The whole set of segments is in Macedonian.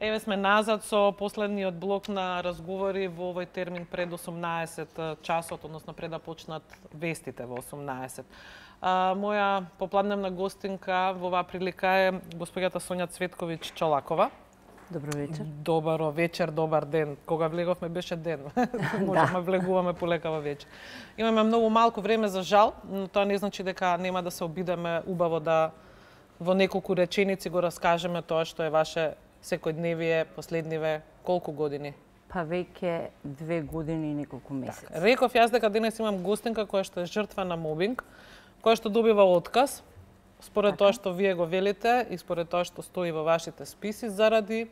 Еве сме назад со последниот блок на разговори во овој термин пред 18 часот, односно пред да почнат вестите во 18. Моја попладневна гостинка во оваа прилика е госпоѓата Сонја Цветковиќ Чолакова. Добро вечер. Добро вечер, добар ден. Кога влеговме беше ден. Можеме влегуваме полекава вечер. Имаме многу малку време за жал, но тоа не значи дека нема да се обидеме убаво да во неколку реченици го раскажеме тоа што е ваше секојдневие последниве колку години? Па веќе 2 години и неколку месеци. Так, реков јас дека денес имам гостинка која што е жртва на мобинг, која што добива отказ, според тоа што вие го велите и според тоа што стои во вашите списи, заради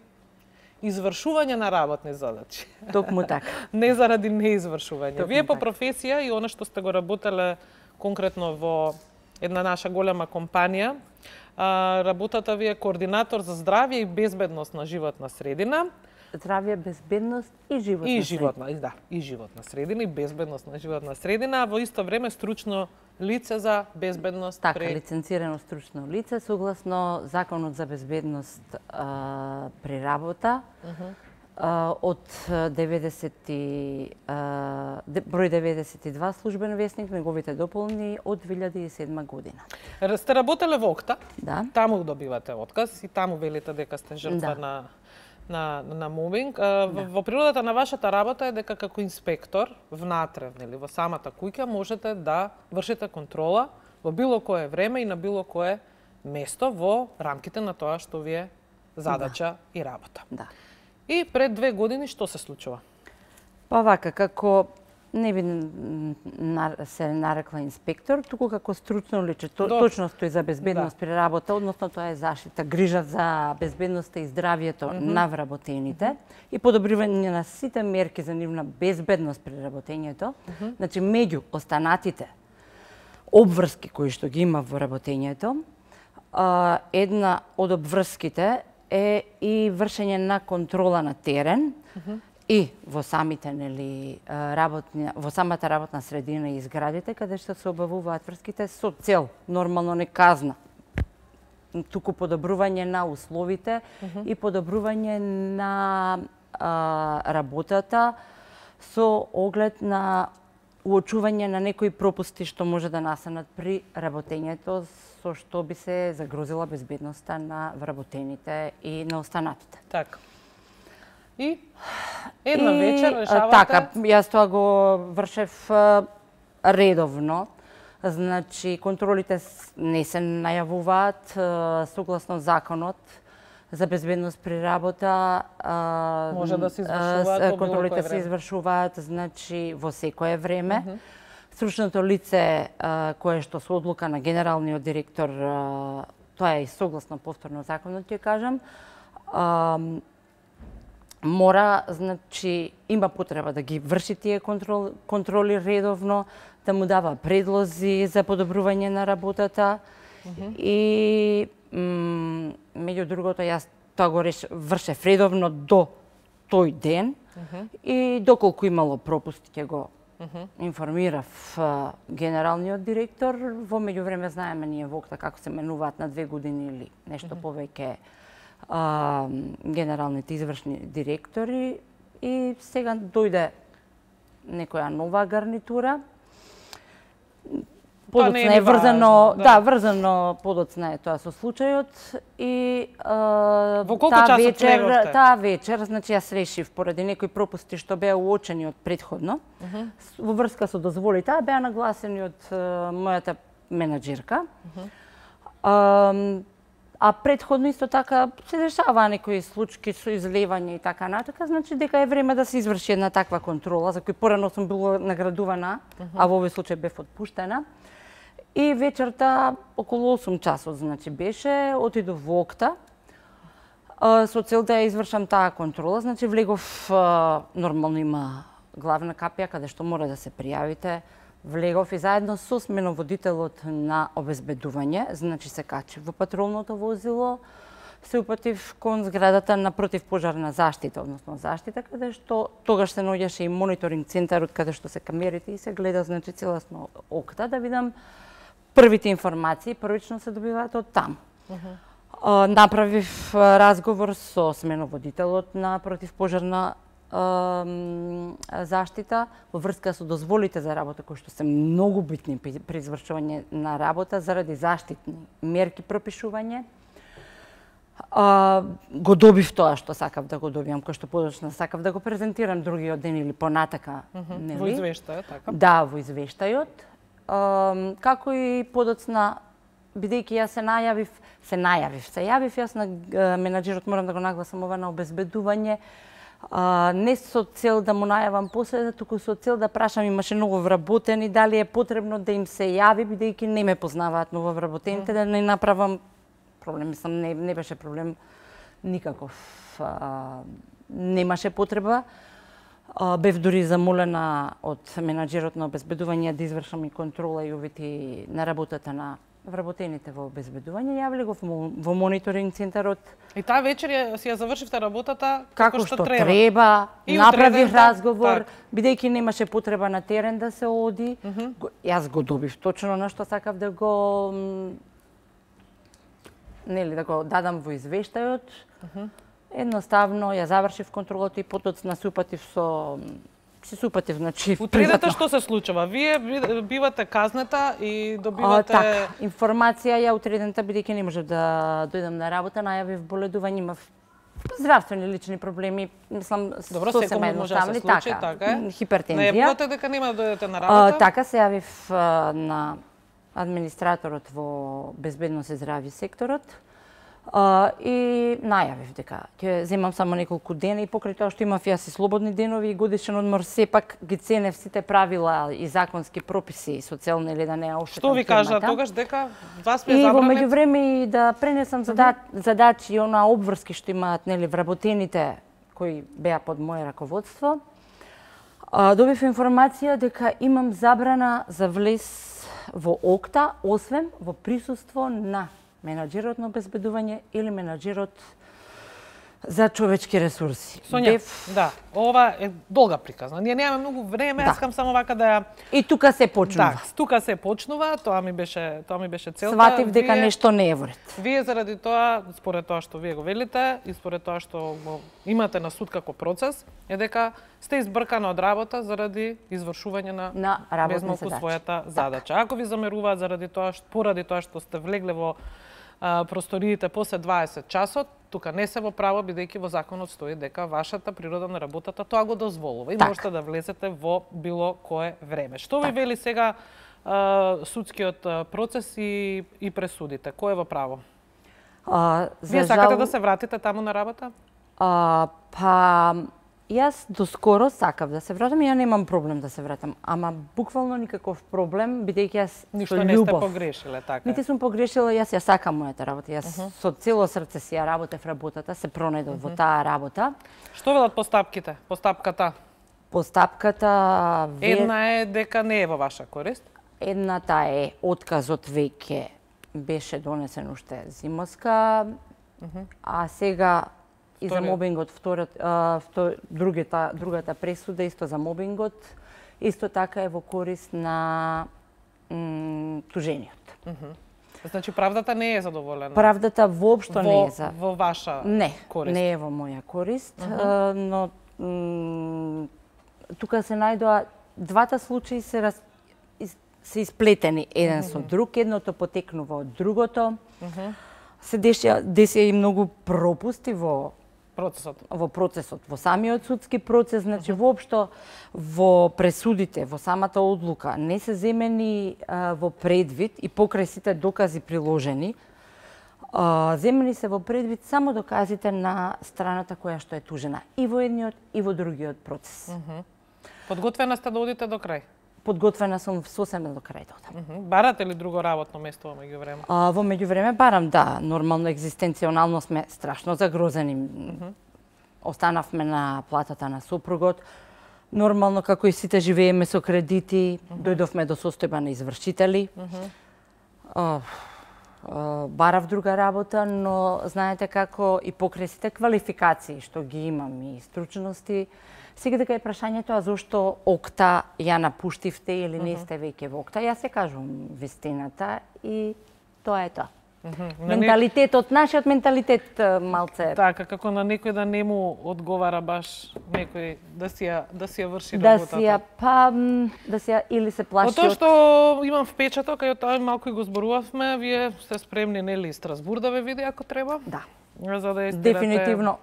извршување на работни задачи. Токму така. Не заради неизвршување. Токму Вие по така. професија и она што сте го работеле конкретно во една наша голема компанија, работата ви е координатор за здравје и безбедност на животна средина. Здравје, безбедност и животна И средина. животна, да, и животна средина и безбедност на животна средина, а во исто време стручно лице за безбедност Така, лиценцирано стручно лице согласно Законот за безбедност при работа. Од број 92 службен весник, неговите дополни од 2007 година. Сте работеле во ОКТА, Да. таму добивате отказ и таму велите дека сте жртва на мобинг. Во природата на вашата работа е дека како инспектор внатре, нели, во самата куќа можете да вршите контрола во било кое време и на било кое место во рамките на тоа што ви е задача и работа. Да. И пред 2 години што се случува? Па вака, како не би се нарекла инспектор, туку како стручно лице, точно стои за безбедност при работа, односно тоа е заштита, грижа за безбедноста и здравјето на вработените и подобрување на сите мерки за нивна безбедност при работењето. Значи, меѓу останатите обврски кои што ги има во работењето, една од обврските е и вршење на контрола на терен и во самите во самата работна средина и зградите каде што се обавуваат врските со цел нормално не казна, туку подобрување на условите и подобрување на работата со оглед на уочување на некои пропусти што може да настанат при работењето, со што би се загрозила безбедноста на вработените и на останатите. Така. И една вечер решавате... Така, јас тоа го вршев редовно. Значи, контролите не се најавуваат согласно законот за безбедност при работа. Може да се извршуваат контролите се извршуваат, значи, во секое време. Стручното лице кое што со одлука на генералниот директор, тоа е и согласно повторно законот, ќе кажам, мора, значи, има потреба да ги врши тие контроли редовно, да му дава предлози за подобрување на работата и меѓу другото јас тоа го вршев редовно до тој ден и доколку имало пропусти ќе го информирав генералниот директор. Во меѓувреме знаеме ние во ОКТА како се менуваат на 2 години или нешто повеќе генералните извршни директори и сега дојде некоја нова гарнитура. Подоцна е врзано, врзано подоцна е тоа со случајот и во колку часот влеговте? Таа вечер, значи јас решив поради некои пропусти што беа уочени од претходно, во врска со дозволи, таа беа нагласени од мојата менаџерка. А претходно исто така се дешаваа некои случаи со излевање и така натака, значи дека е време да се изврши една таква контрола, за кој порано сум била наградувана, а во овој случај бев отпуштена. И вечерта околу 8 часот, значи беше, отидов во ОКТА со цел да ја извршам таа контрола, значи влегов, нормално има главна капија каде што мора да се пријавите. Влегов и заедно со сменоводителот на обезбедување, значи се качи во патролното возило, се упатив кон зградата на противпожарна заштита, односно заштита, каде што тогаш се наоѓаше и мониторинг центарот каде што се камерите и се гледа, значи, целосно ОКТА, да видам првите информации, првично се добиваат од таму. Направив разговор со сменоводителот на противпожарна заштита во врска со дозволите за работа кои што се многу битни при извршување на работа заради заштитни мерки пропишување. Го добив тоа што сакав да го добијам, кој што подоцна сакав да го презентирам другиот ден или понатака, нели? Во извештајот, така? Да, во извештајот. Како и подоцна, бидејќи јас се јавив јас на менаџерот, морам да го нагласам ова, на обезбедување, не со цел да му најавам после, туку со цел да прашам, имаше ново вработени, дали е потребно да им се јави, бидејќи не ме познаваат ново вработените, да не направам проблем, мислам, не беше проблем никаков. Немаше потреба. Бев дури замолена од менаџерот на обезбедување да извршам и контрола и увити на работата на вработените во обезбедување. Јавиле го во мониторинг центарот. И таа вечер си ја завршивте работата како што треба. Направив разговор, бидејќи немаше потреба на терен да се оди. Јас го добив точно на што сакав да го да го дадам во извештајот. Едноставно ја завршив контролата и потоцна се супатив, значи утредата што се случува? Вие бивате казнета и добивате така, информација ја утредента, бидејќи не можев да дојдам на работа, најавив боледување, имав здравствени лични проблеми, мислам сосема едноставни, така, хипертензија. Најавувате дека нема да дојдете на работа? Така се јавив на администраторот во безбедност и здравје секторот и најавив дека ќе земам само неколку дена и покрај тоа што имав јас и слободни денови и годишен одмор, сепак ги ценев сите правила и законски прописи социјални или да не ја оштетам. Што ви кажа тогаш дека вас ме забранет? И во меѓувреме и да пренесам задачи и онаа обврски што имаат нели вработените кои беа под моје раководство. Добив информација дека имам забрана за влез во ОКТА, освен во присуство на менаџерот на обезбедување или менаџерот за човечки ресурси. Сонја, да, ова е долга приказна. Ние немаме многу време, јас сакам само вака да ја... И тука се почнува. Да, тука се почнува, тоа ми беше целта. Сватив дека нешто не е во ред. Вие заради тоа, според тоа што вие го велите и според тоа што го имате на суд како процес, е дека сте избркана од работа заради извршување на безмалку својата задача. Ако ви замеруваат поради тоа што сте влегле во просториите после 20 часот, тука не се во право, бидејќи во законот стои дека вашата природа на работата тоа го дозволува и можете да влезете во било кое време. Што ви вели сега судскиот процес и пресудите? Кој е во право? Вие сакате да се вратите таму на работа? Јас доскоро сакав да се вратам и ја немам проблем да се вратам, ама буквално никаков проблем, бидејќи јас ништо не сте погрешиле, така? Нити сум погрешила, јас ја сакам мојата работа. Јас со цело срце си ја работев работата, се пронајдов во таа работа. Што велат постапките? Постапката една е дека не е во ваша корист. Едната е отказот веќе беше донесен уште зимоска, а сега и за мобингот, другата пресуда исто за мобингот, исто така е во корист на тужениот. Значи правдата не е задоволена? Правдата воопшто не е за... Во ваша корист? Не е во моја корист, но тука се најдоа двата случаи се исплетени еден со друг, едното потекнува од другото. Се десија и многу пропусти во процесот, во самиот судски процес, значи воопшто во пресудите, во самата одлука не се земени во предвид и покрај сите докази приложени, земени се во предвид само доказите на страната која што е тужена и во едниот и во другиот процес. Подготвена сте да одите до крај? Подготвена сум сосема до крај да одам. Барате ли друго работно место во меѓувреме? Во меѓувреме барам, да. Нормално екзистенционално сме страшно загрозени. Останавме на платата на сопругот. Нормално, како и сите, живееме со кредити. Дојдовме до состојба на извршители. Барав друга работа, но знаете како и покрај сите квалификации што ги имам и стручности, сега дека е прашањето, а зошто ОКТА ја напуштивте или не сте веќе во ОКТА? Јас се кажувам вистината и тоа е тоа. Менталитетот, нашиот менталитет малце. Така, како на некој да не му одговара баш некој да си ја врши работата. Да си ја или се плаши од тоа што имам впечаток, кај тоа малку и го зборувавме, вие сте спремни нели Страсбур да ве види ако треба? Да. За да дефинитивно.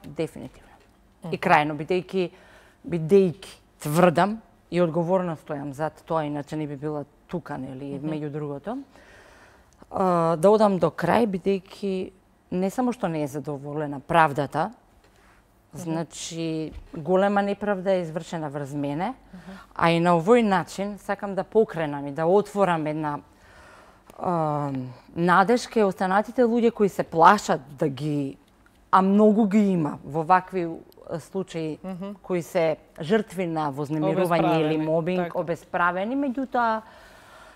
И крајно бидејќи тврдам и одговорно стојам зад тоа, иначе не би била тука, нели, меѓу другото. Да одам до крај, бидејќи не само што не е задоволена правдата, значи голема неправда е извршена врз мене, а и на овој начин сакам да покренам и да отворам една надеж кај останатите луѓе кои се плашат да ги, а многу ги има во вакви случаи кои се жртви на вознемирување или мобинг, обесправени, меѓутоа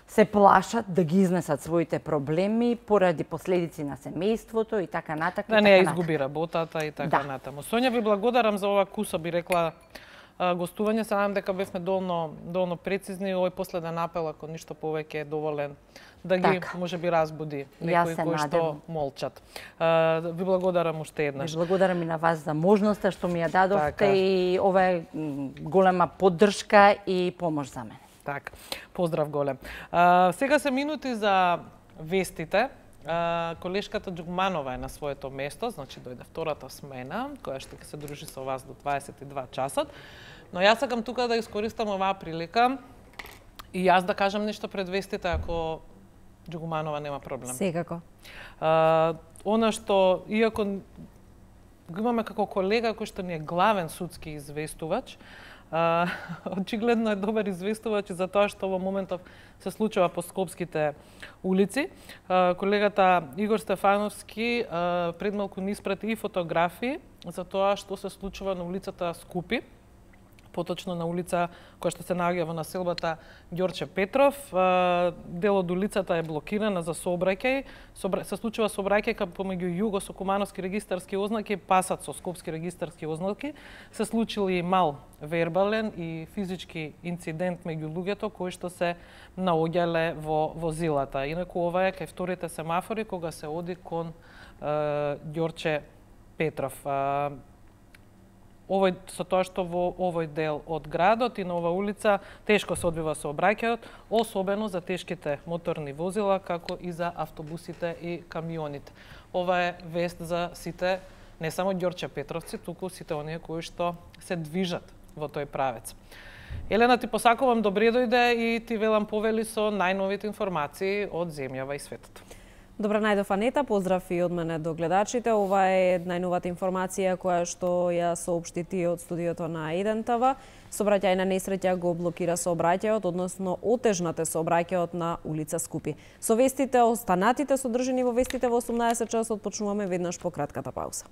се плашат да ги изнесат своите проблеми поради последици на семејството и така натаму. Да не ја изгуби работата и така натаму. Сонја, ви благодарам за ова куса, би рекла, гостување. Се надам дека бевме доволно прецизни. Овој последен апел, ако ништо повеќе, е доволен да ги можеби разбуди некои кои што молчат. Ви благодарам уште еднаш. Ви благодарам и на вас за можноста што ми ја дадовте и ова е голема поддршка и помош за мене. Така, поздрав голем. Сега се минути за вестите. Колешката Џугманова е на своето место, значи дојде втората смена, која што ќе се дружи со вас до 22 часот. Но јас сакам тука да искористам оваа прилика и јас да кажам нешто пред вестите, ако Џугманова нема проблем. Секако. Она што, иако го имаме како колега кој што ни е главен судски известувач, очигледно е добар известувач за тоа што во моментов се случува по скопските улици. Колегата Игор Стефановски пред малку ни испрати и фотографии за тоа што се случува на улицата Скупи, поточно на улица која што се наоѓа во населбата Ѓорче Петров. Дел од улицата е блокирана за сообраќај. Се случува сообраќај помеѓу југо-сокумановски регистарски ознаки, пасат со скопски регистарски ознаки. Се случили мал вербален и физички инцидент меѓу луѓето кои што се наоѓале во возилата. Инаку ова е кај вторите семафори кога се оди кон Ѓорче Петров. Со тоа што во овој дел од градот и на ова улица тешко се одвива сообраќајот, особено за тешките моторни возила, како и за автобусите и камионите. Ова е вест за сите, не само Ѓорче Петровци, туку сите оние кои што се движат во тој правец. Елена, ти посакувам добре дојде и ти велам повели со најновите информации од земјава и светот. Добра најдов, Анета, поздрав и од мене до гледачите. Ова е најновата информација која што ја соопшти ти од студиото на 1 ТВ. Сообраќајна несреќа го блокира сообраќајот, односно отежнате сообраќајот на улица Скупи. Со вестите останатите содржани во вестите во 18 часот почнуваме веднаш по кратката пауза.